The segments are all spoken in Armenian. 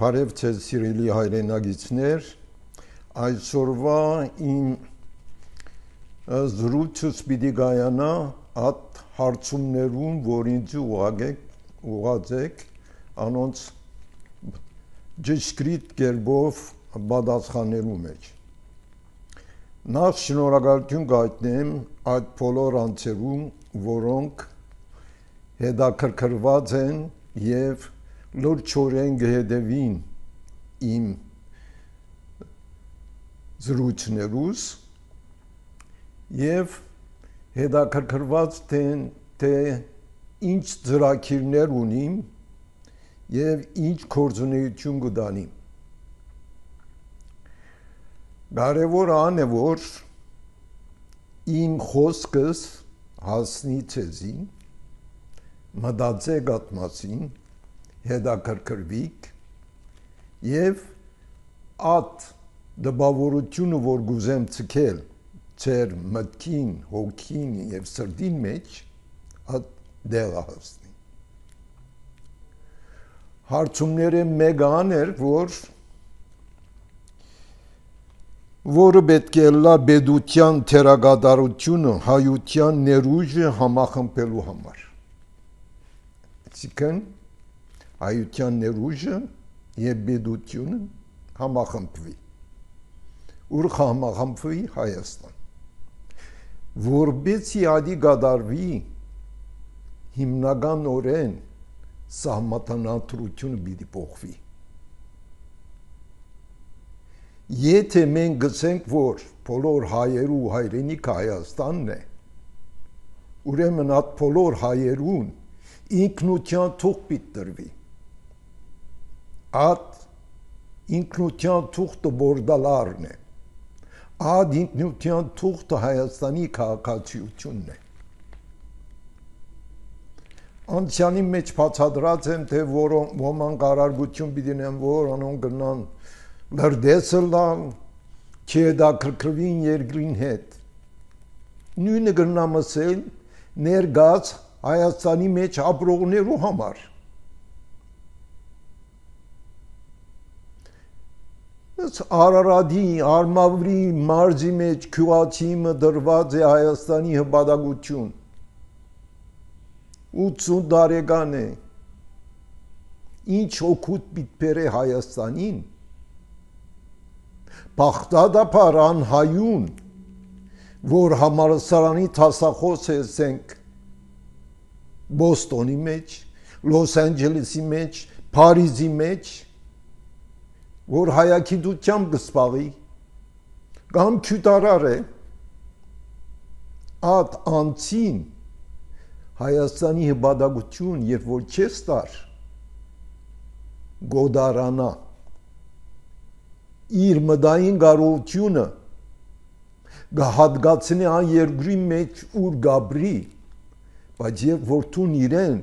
Բարև ձեզ սիրելի հայրենագիցներ, այսօրվա իմ զրույցս պիտի գայանա այդ հարցումներուն, որ ինձ ուղղացեք, անոնց ճշգրիտ կերպով պատասխանելու մեջ։ Նախ շնորհակալություն կհայտնեմ այդ բոլոր անձերուն, որոնք հետաքրքրված են եւ լրջորեն կհետևին իմ զրույցներուս եւ հետաքրքրված թե ինչ ծրագիրներ ունիմ եւ ինչ գործունեություն կդանիմ։ Կարևոր ան է, որ իմ խոսքս հասնի ցեզի, մտածեք այդ մասին, հետաքրքրվիք եւ այդ դպավորությունը, որ գուզեմ ցկել ձեր մտքին, հոգին եւ սրտին մեջ, այդ դեղը հասնի։ Հարցումները մեկան էր, որը պետք է լա բեդության թերագադարությունը հայության ներուժը համախմբելու համար։ Այսինքն հայության ներուժը եւ բեդությունը համախմբվի։ Ուր համախմբվի Հայաստան։ Որբեցի ադի գադարվի հիմնականորեն սահմանադրությունը պիտի փոխվի։ Եթե մենք գցենք, որ բոլոր հայերու հայրենիքը Հայաստանն է, ուրեմն այդ բոլոր հայերուն ինքնության թուղթ պիտի տրվի։ Այդ ինքնության թուղթը բորդալարն է։ Այդ ինքնության թուղթը Հայաստանի քաղաքացիությունն է։ Անցյալի մեջ բացատրած եմ, թե ոմանք արարգություն պիտի ունեն, որ անոնք գնան լրդեսը լան, չհետաքրքրվին երկրին հետ։ Նույնը գնամ ասել ներգած Հայաստանի մեջ ապրողներու համար։ Արարատի, Արմավրի մարզի մեջ քյուղացիմը դրված է Հայաստանի հպատակություն։ 80 տարեկան է։ Ինչ օգուտ պիտի բերե Հայաստանին։ Բաղդադապար անհայուն, որ համալսարանի դասախոս ենք Բոստոնի մեջ, Լոս Անջելեսի մեջ, Փարիզի մեջ, որ հայագիտությամբ կսպաղի, կամ քյութարար է, այդ անցին Հայաստանի հպատակություն, երբ որ չես տար, գոդարանա, իր մտային կարողությունը կհատկացնի այն երկրի մեջ ուր գաբրի, բայց երբ որ տուն իրեն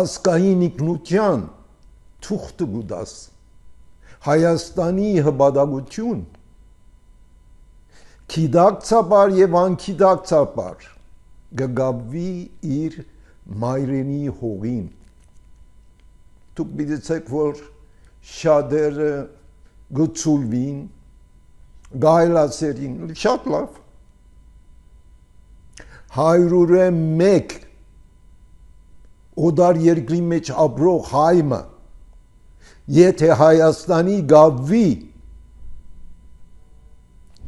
ասկային ինքնության թուղթը գուդաս, Հայաստանի հպատակություն, գիտակցաբար եւ անկիտակցաբար կգաբվի իր մայրենի հողին։ Դուք գիտեք, որ շատերը գծուլվին, գայլացերին, շատ լավ։ 101 օդար երկրի մեջ ապրող հայմը, եթե Հայաստանի գաբվի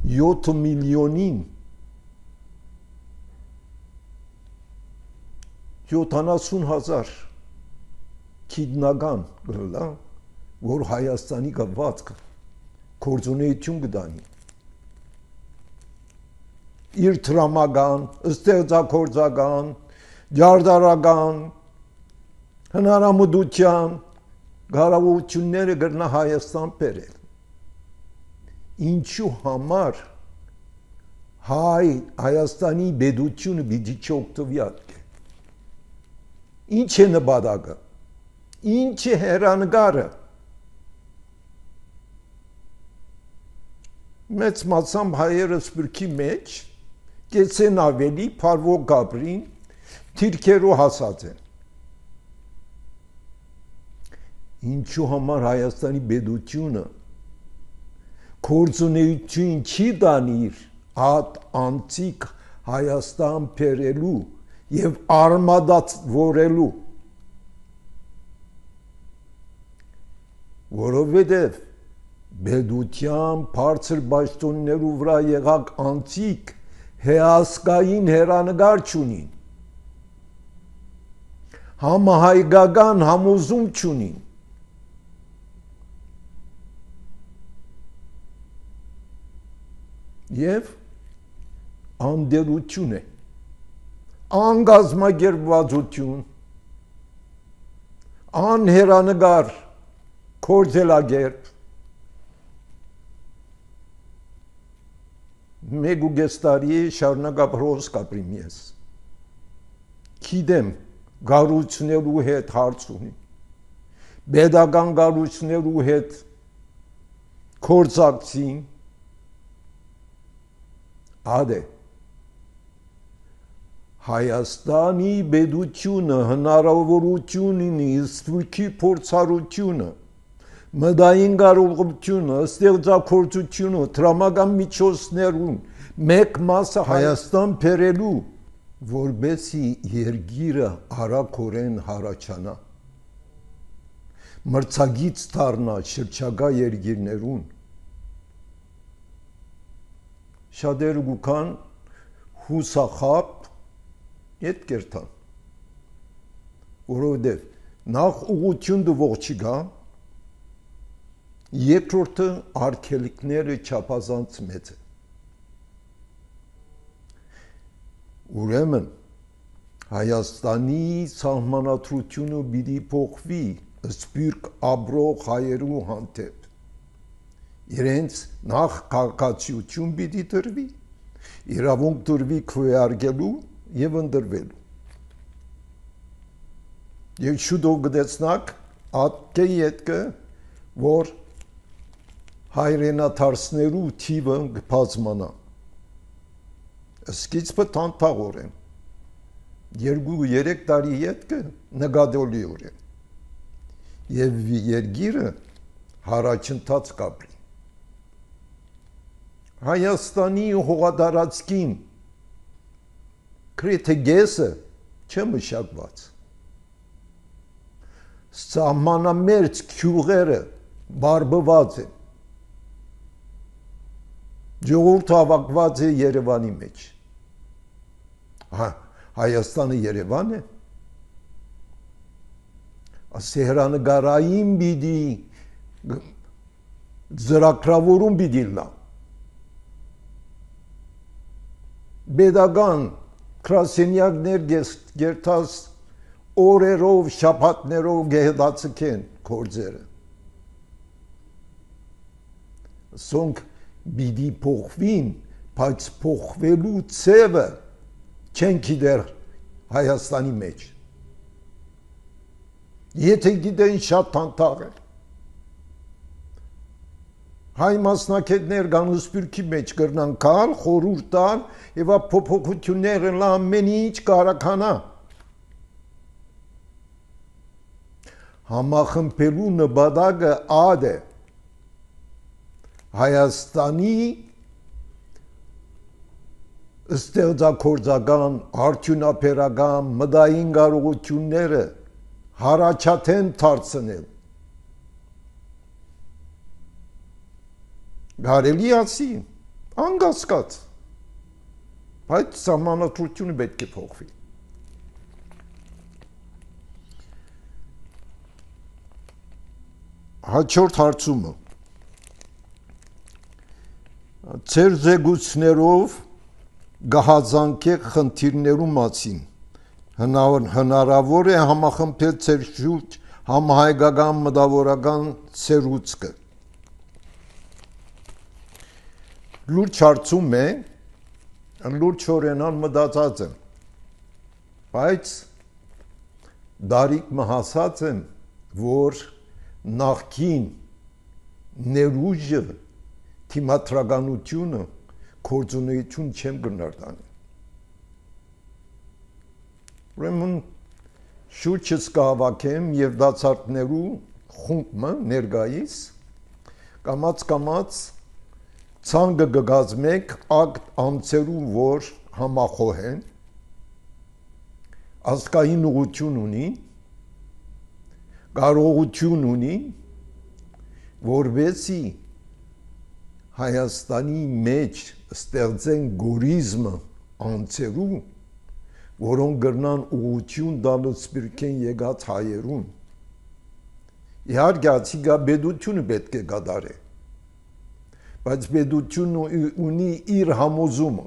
7 միլիոնին 70,000 քիդնական գլա, որ Հայաստանի գավվածքը գործունեություն կդանի։ Իր տրամական, ստեղծագործական, ջարդարական, հնարամտության կարողությունները գրնա Հայաստան բերել։ Ինչու համար Հայաստանի բեդությունը պիտի չօգտվի այդքան։ Ինչ է նպատակը։ Ինչ է հեռանկարը։ Մեծ մասամբ հայերը սպրքի մեջ կեցեն ավելի փարվող գաբրին թիրքերու հասած են։ ինչու համար Հայաստանի պետությունը գործունեություն չի դանիր այդ անցիկ Հայաստան բերելու եւ արմադավորելու, որովհետեւ պետության բարձր պաշտոններու վրա եղած անցիկ հեասկային հերանեկար չունին, համահայկական համոզում չունին, եւ անդերություն է, անգազմագերբվածություն, անհերանեկար կորձելագերբ, մեկ ու կես տարի շարունակաբրոս կապրիմ ես, գիտեմ գառույցներու հետ հարց ունի, պետական գառույցներու հետ կորձակցին, ադե Հայաստանի պետությունը հնարավորություն ունի ստույգի փորձառությունը, մտային կարողությունը, ստեղծագործությունը, տրամական միջոցներուն մեկ մասը Հայաստան բերելու, որբեսի երկիրը արագորեն հառաջանա, մրցակից դառնա շրջակա երկիրներուն, շատերը գուքան հուսախապ ետ կերտան, որովհետև նախ ուղղություն դվող չկա, երկրորդը արգելիքները չափազանց մեծ է։ Ուրեմն Հայաստանի սահմանադրությունը պիտի փոխվի սփյուռք ապրող հայերու հանդեպ, իրենց նախ քաղաքացիություն պիտի տրվի, իրավունք տրվի քվեարկելու եւ ընտրվելու։ Եվ շուտով գտեցնակ ատկե ետքը, որ հայրենադարձներու թիվը կբազմանա։ Սկիզբը տանտաղորեն, 2-3 տարի ետքը նկատելիորեն, եւ երկիրը հարաճընթաց կապրի։ Հայաստանի հողատարածքին գրեթե գեսը չմշակված, սահմանամերձ գյուղերը բարբված են, ժողովուրդը հավաքված է Երևանի մեջ։ Հայաստանը Երևան է, հերանեկարային պիտի ծրագրավորում պիտի լա, պետական գրասենյակներ գերտած օրերով, շաբաթներով գեհդացկեն գործերը։ Սոնք պիտի փոխվին, բայց փոխվելու ցևը չեն գիտեր Հայաստանի մեջ։ Եթե գիտեն շատ տանտաղ է։ Հայ մասնակետներ կան սփյուռքի մեջ կրնան կալ, խորհուրդ տալ եւ փոփոխությունները ամեն ինչ կարականա։ Համախմբելու նպատակը ադը Հայաստանի ստեղծագործական, արդյունաբերական, մտային կարողությունները հարաճաթեն դարձնել։ Կարելի ասի, անկասկած, բայց սահմանադրությունը պետք է փոխվի։ Հաջորդ հարցումը։ Ձեր զեկույցներով գահազանգեք խնդիրներու մասին, հնարավոր է համախմբել ձեր շուրջ համահայկական մտավորական սերուցքը։ Լուրջ հարցում է, լուրջորենան մտածած եմ, բայց դարիք մհասած եմ, որ նախքին ներուժը, թիմադրականությունը, գործունեություն չեմ գնարդանի։ Ուրեմն շուրջս կհավաքեմ եւ դասարտներու խումբը ներգայիս կամած ցանկը գգազմեք ակտ անցերու որ համախոհ են ազգային ուղղություն ունի կարողություն ունի որովհետեւ Հայաստանի մեջ ստեղծեն գորիզմը անցերու որոնք գրնան ուղղություն տալու սպիրկեն եկած հայերուն իհարկե ացիգա բեդությունը պետք է կատարե բայց բեդությունը ունի իր համոզումը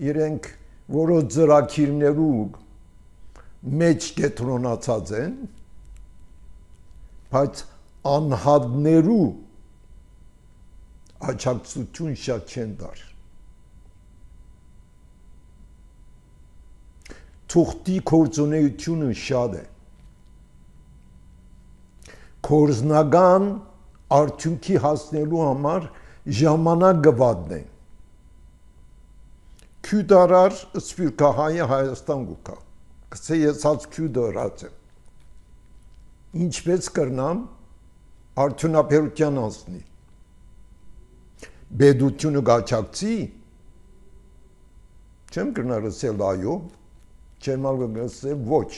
իրենք որոշ ծրագիրներու մեջ կետրոնացած են բայց անհատներու աջակցություն շատ չեն դար թուղթի կորձունեությունը շատ է կորզնական արդյունքի հասնելու համար ժամանակ գվադն են քյուդարար սպիրկահայը Հայաստան գուկա կսե եսած քյուդարած եմ ինչպես կրնամ արդյունաբերության անցնի բեդությունը գաչակցի չեմ կրնար ասել այո չեմ ասել ոչ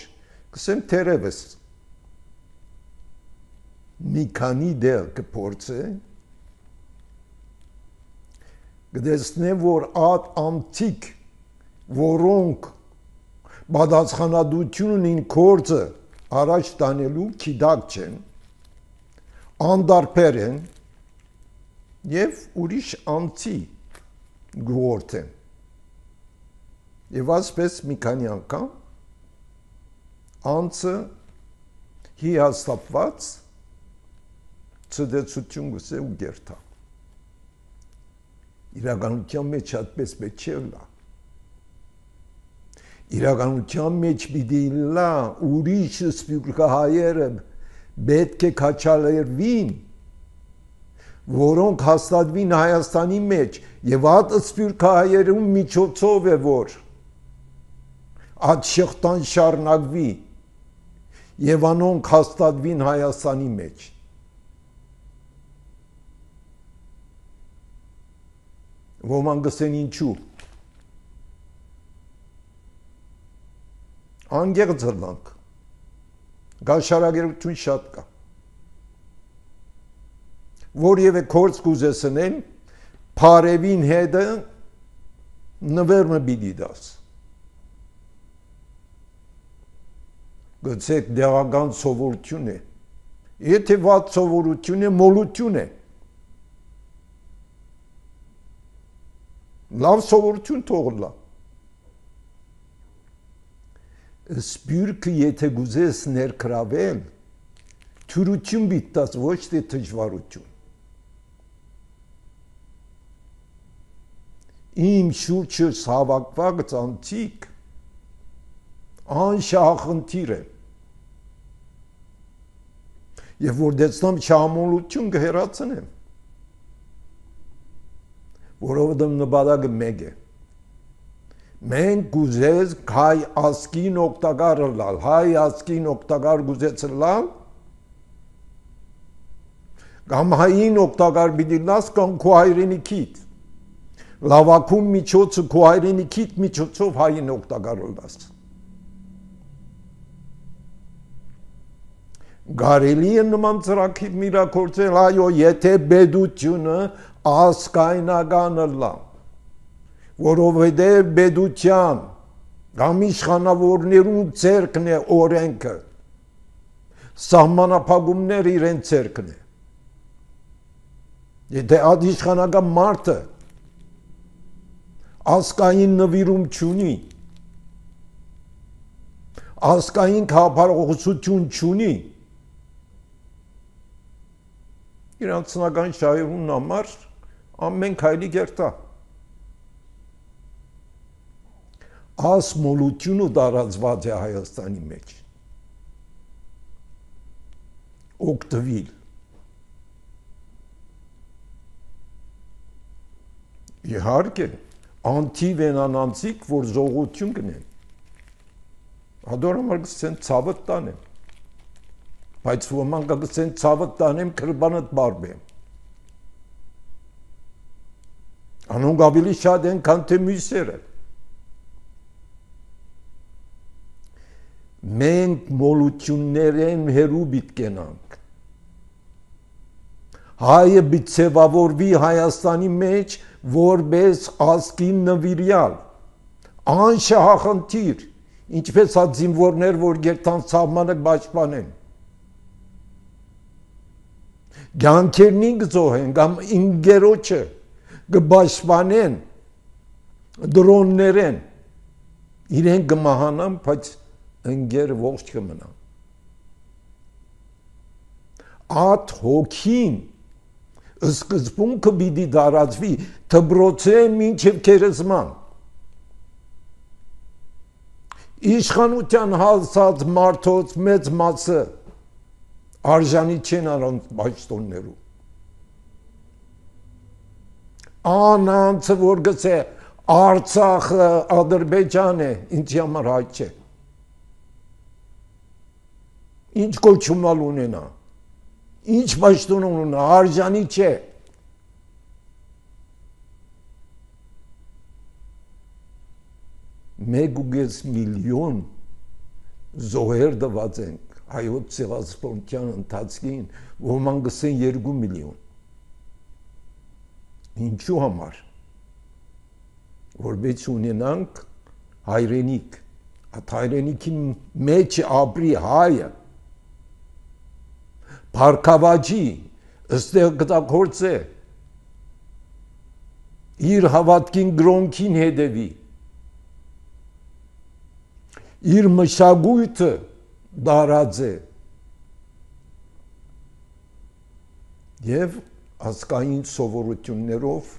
կսեմ թերևս մի քանի դեր կփորձե գտեսնե որ այդ անտիկ որոնք բադացխանադություն ունին կորձը առաջ տանելու քիդակ չեն անդարբեր են եւ ուրիշ անցի գործ են եւ ասպես մի քանի անգամ անցը հիաստապված ծդեցություն գուսե ու գերտա իրականության մեջ այդպես պետք չէ լա իրականության մեջ պիտի լա ուրիշ սպիրկահայերը պետք է քաչալերվին որոնք հաստատվին Հայաստանի մեջ եւ այդ սպիրկահայերում միջոցով է որ այդ շղթան շարունակվի եւ անոնք հաստատվին Հայաստանի մեջ ոմանք գսեն ինչու անգեղծ հլանք գաշարագերություն շատ կա որևէ կորց կուզեսնեն փարևին հետը նվերմը բիդի դաս գցեք դեղական սովորություն է եթե վատ սովորություն է մոլություն է լավ սովորություն թողլա սպիրկը եթե գուզես ներկրավել թյուրություն բիտտած ոչ թե թժվարություն իմ շուրջս հավաքված անտիկ անշահախնդիր է եւ որ դեցնամ շահամոլություն կհեռացնեմ որովհետեւ նպատակը մեկ է մենք գուզես հայ ազգին օգտակար լալ հայ ազգին օգտակար գուզեց լալ կամ հային օգտակար պիտի լաս կամ քո հայրենիքիդ լավակում միջոցը քո հայրենիքիդ միջոցով հային օգտակար լաս Գարելի է նման ծրագիր միրակորձել, այո, եթե բեդությունը ազգայնական լա, որովհետև բեդության կամ իշխանավորներու ձեռքն է օրենքը, սահմանափակումները իրեն ձեռքն է։ Եթե այդ իշխանական մարդը ազգային նվիրում չունի, ազգային քաղաքականություն չունի, իրանցնական շահերուն համար ամեն քայլի գերտա։ Ասմոլությունը տարածված է Հայաստանի մեջ։ Օգտվիլ։ Իհարկե, անթիվ են անանցիկ, որ զողություն կնեն։ Հադոր համար կսեն ցավը տանեն։ բայց ոմանք կգցեն ցավը տանեմ քրբանդ բարբեմ անոնք ավելի շատ են քան թե մյուսերը մենք մոլություններեն հերու բիտկենանք հայը բիցեվավորվի Հայաստանի մեջ որպես ազգի նվիրյալ անշահախնդիր ինչպես հա զինվորներ որ գերտան սահմանը պաշտպանեն գանքերնին գծոհեն կամ ինգերոջը կպաշտպանեն դրոններեն իրեն կմահանան բայց ընկեր ողջ կմնան ատ հոգին սկզբունքը պիտի դարածվի դբրոցե մինչև քերեզման իշխանության հասած մարդոց մեծ մասը արժանի չեն առանց պաշտոններու անանցը որ գցե Արցախը Ադրբեջան է ինձ համար հայ չէ ինչ կոչումալ ունենա ինչ պաշտոն ունենա արժանի չէ մեկ միլիոն զոհեր դված ենք հայոց ցեղասպանության ընթացքին ոմանք գսեն 2 միլիոն ինչու համար որպես ունենանք հայրենիք այդ հայրենիքի մեջ ապրի հայը Փարքավաճի ըստեղ գտակորձե իր հավատքին գրոնքին հետևի իր մշակույթը դարած է եւ ազգային սովորություններով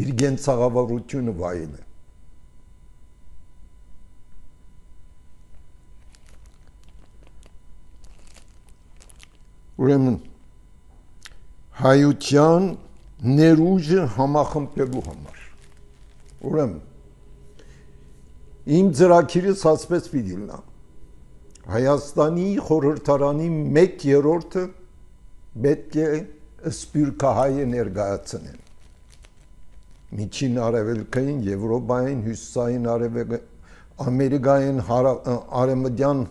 իր գենցաղավարությունը վայել է ուրեմն հայության ներուժը համախմբելու համար ուրեմն իմ ծրագիրս ասպես պիտի լինի Հայաստանի խորհրդարանի 1/3-ը պետք է սպյուրքահայը ներկայացնեն միջին արևելքային Եվրոպային հյուսիսային Ամերիկային արևմտյան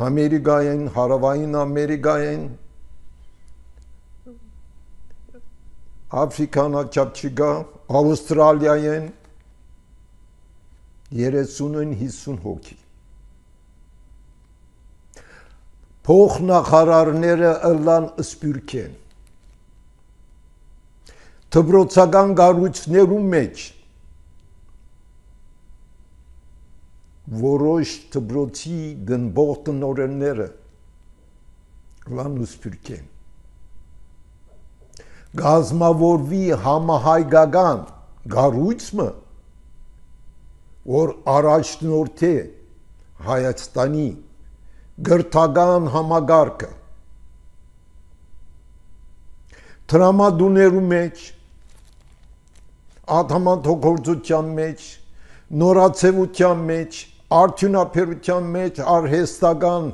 Ամերիկային հարավային Ամերիկային Աֆրիկան չափչիգա Ավստրալիային 30-50 հոգի փոխնախարարները ըլլան սպյուրքեն դպրոցական կառույցներու մեջ որոշ դպրոցի դնբող տնօրենները ըլլան սպյուրքեն գազմավորվի համահայկական կառույցը որ առաջնորդի Հայաստանի գրթական համագարկը տրամադուներու մեջ ադամանդողորձության մեջ նորացևության մեջ արդյունաբերության մեջ արհեստական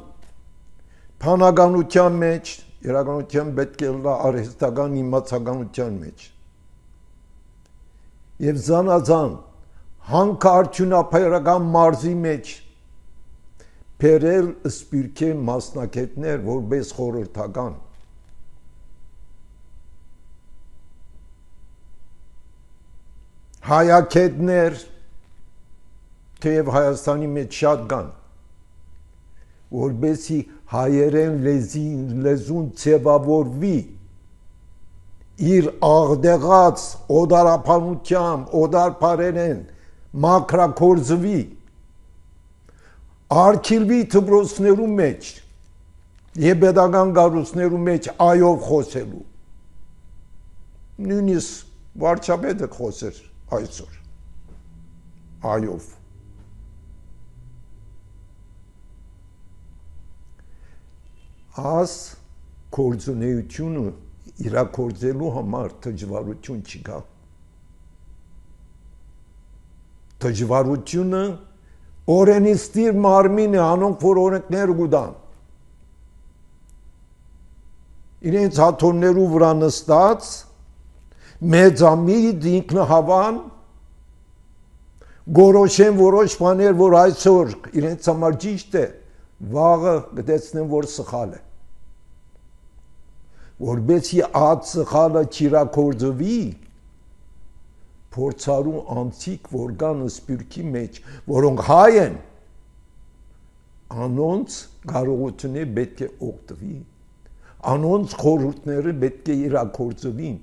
փանականության մեջ իրականության պետք է լա արհեստական իմացականության մեջ եւ զանազան հանքարդյունաբերական մարզի մեջ Պերել սպյուրքե մասնակետներ որպես խորհրդական հայակետներ թեև Հայաստանի մեջ շատ կան որպեսի հայերեն լեզուն ձևավորվի իր աղդեղած օդարապանությամբ օդարբարերեն մակրակորձվի Արկիլվի դպրոցներու մեջ եւ pedagogan կառույցներու մեջ այով խոսելու նույնիսկ վարչապետը խոսեր այսօր այով աս կորձունեությունը իրակորձելու համար դժվարություն չկա դժվարությունը օրենիստիր մարմին է անոնք որ օրենքներ գուտան իրենց հաթոններու վրա նստած մեծամիտ ինքնահավան գորոշեն որոշ բաներ, որ այսօր իրենց համար ճիշտ է, վաղը գտեցնեն, որ սխալ է, որբեսի այդ սխալը չիրակորձվի, փորձարու անցիկ, որ կան սպիրկի մեջ, որոնք հայ են, անոնց կարողությունը պետք է օգտվի, անոնց խորհուրդները պետք է իրակորձվին,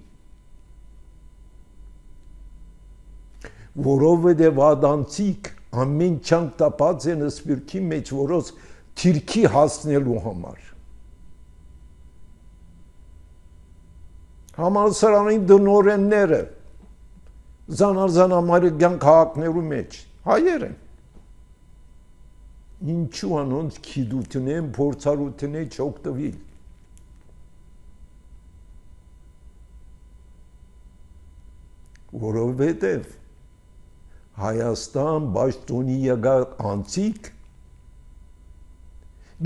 որովհետև ադանցիկ ամեն չանք տապած են սպիրկի մեջ, որոց թիրքի հասնելու համար։ Համալսարանի դնորենները զանազան ամերիկյան քաղաքներու մեջ հայեր են։ Ինչու անոնց գիտությունեն, փորձառութենեն չօգտվի։ Որովհետև Հայաստան Պաշտոնի եկալ անցիկ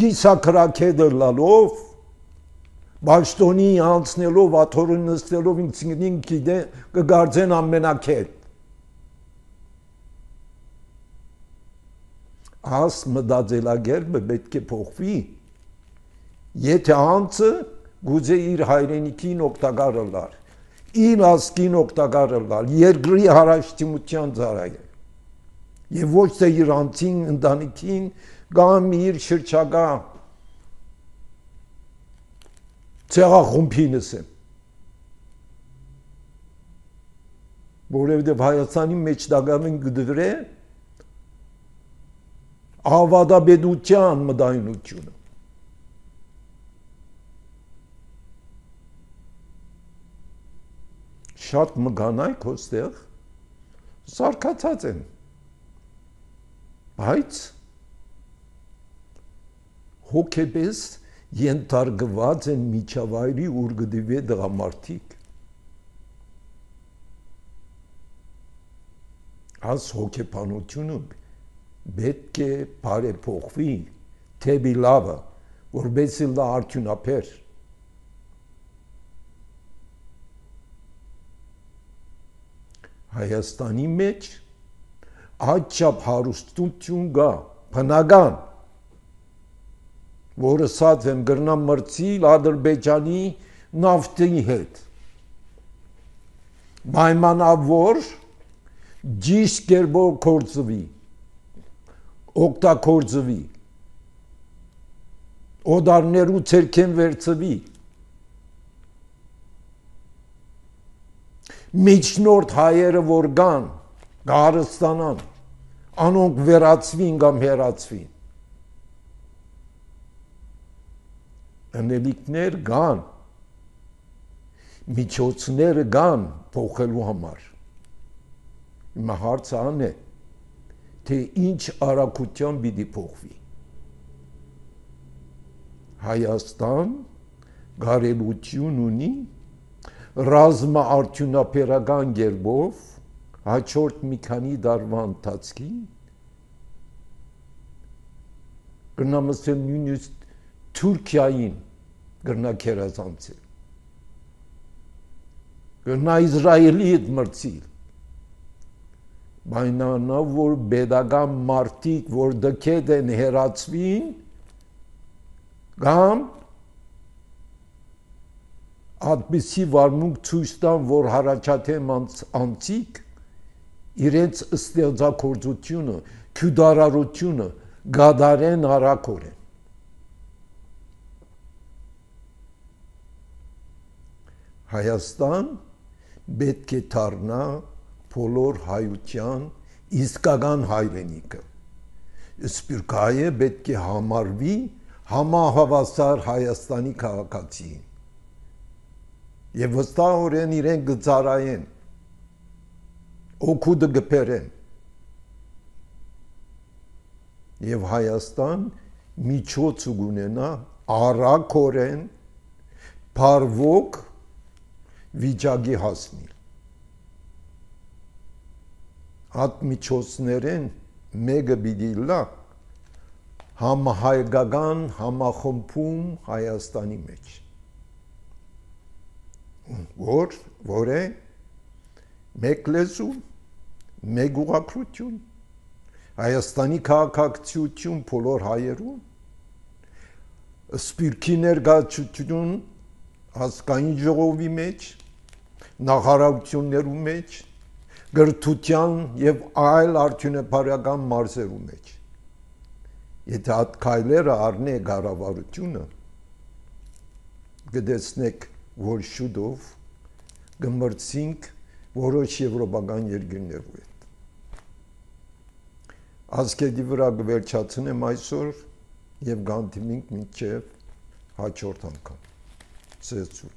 գիսակրակեդը լալով Պաշտոնի անցնելով աթորը նստելով ինքնին գիտե կգարձեն ամենակետ աս մտածելակերպը պետք է փոխվի եթե անձը գուցե իր հայրենիքին օգտակար լար իր ազգին օգտակար լար երկրի հարաշտիմության ծառայ եւ ոչ թե իր անձին ընտանիքին կամ իր շրջակա ցեղախումբինս է որովհետեւ Հայաստանի մեջ դակամին գդրե ավադաբեդության մտայնությունը շատ մգանայք հոստեղ սարկացած են բայց հոգեպես ենթարկված են միջավայրի ուր գդիվե դղամարդիկ այս հոգեբանությունը պետք է բարեփոխվի թեպի լավը որբեսի լա արդյունաբեր Հայաստանի մեջ այդչափ հարուստություն կա բնական որը սած եմ գրնամ մրցիլ Ադրբեջանի նավթի հետ պայմանավոր ճիշտ կերպով կորձվի օգտագործվի օդարներու ցերքեն վերցվի միջնորդ հայերը որ կան գարստանան անոնք վերացվին կամ հերացվին անելիքներ կան միջոցները կան փոխելու համար հիմա հարցը ան է թե ինչ արագությամբ պիտի փոխվի Հայաստան գարելություն ունի ռազմաարդյունաբերական կերպով հաջորդ մի քանի դարվա ընթացքին գնամսել նույնիսկ Թուրքիային գնա քերազանցել գնա Իսրայելի հետ մրցիլ բայնանա որ բեդական մարտիկ որ դքեդ են հերացվին կամ այդպիսի վարմունք ցույց տան որ հարաճաթեմ անցիկ իրենց ստեղծագործությունը քյուդարարությունը գադարեն արակորեն Հայաստան պետք է դառնա բոլոր հայության իսկական հայրենիքը սպիրկայը պետք է համարվի համահավասար Հայաստանի քաղաքացին եւ վստահորեն իրեն գծարայեն օգուտը գբերեն եւ Հայաստան միջոց ունենա արակորեն բարվոք վիճակի հասնի այդ միջոցներեն մեկը պիտի լա համահայկական համախմբում Հայաստանի մեջ որ է մեկ լեզու, մեկ ուղղափառություն, Հայաստանի քաղաքակրթություն բոլոր հայերուն, սպիրկի ներկայացություն ազգային ժողովի մեջ, նախարարություններու մեջ, գրթության եւ այլ արդյունաբերական մարզերու մեջ։ Եթե այդ քայլերը առնե կառավարությունը, կտեսնեք, որ շուտով կմրցինք որոշ եվրոպական երկրներու հետ։ Ասկեդի վրա կվերջացնեմ այսօր եւ գանտիմինք մինչեւ հաջորդ անգամ։ Ցեզուր